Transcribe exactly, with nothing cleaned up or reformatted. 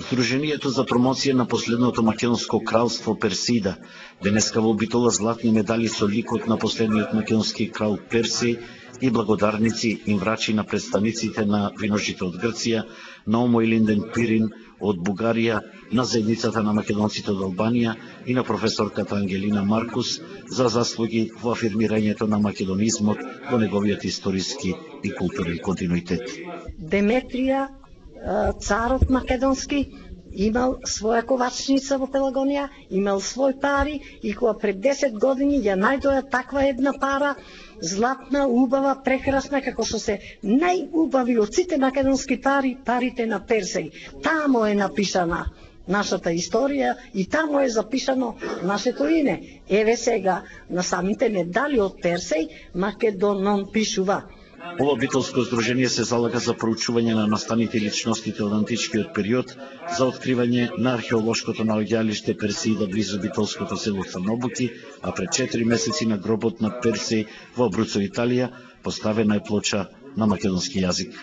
Сдруженијето за промоција на последното македонско кралство Персида денеска вообитува златни медали со ликот на последниот македонски крал Персеј и благодарници им врачи на представниците на виножите од Грција, на Омо Илинден Пирин од Бугарија, на заедницата на македонците од Албанија и на професорката Ангелина Маркус за заслуги во афирмирањето на македонизмот во неговиот историски и културен континуитет. Деметрија, царот македонски, имал своја ковачница во Пелагонија, имал свој пари и кога пред десет години ја најдоја таква една пара, златна, убава, прекрасна, како што се најубави од сите македонски пари, парите на Персеј. Тамо е напишана нашата историја и тамо е запишано нашето име. Еве сега на самите медали од Персеј Македонон пишува. Ова битолско здружение се залага за проучување на настаните личностите од античкиот период, за откривање на археолошкото наоѓалиште Персида близу битолското село Црнобуки, а пред четири месеци на гробот на Персеј во Абруцо, Италија, поставена е плоча на македонски јазик.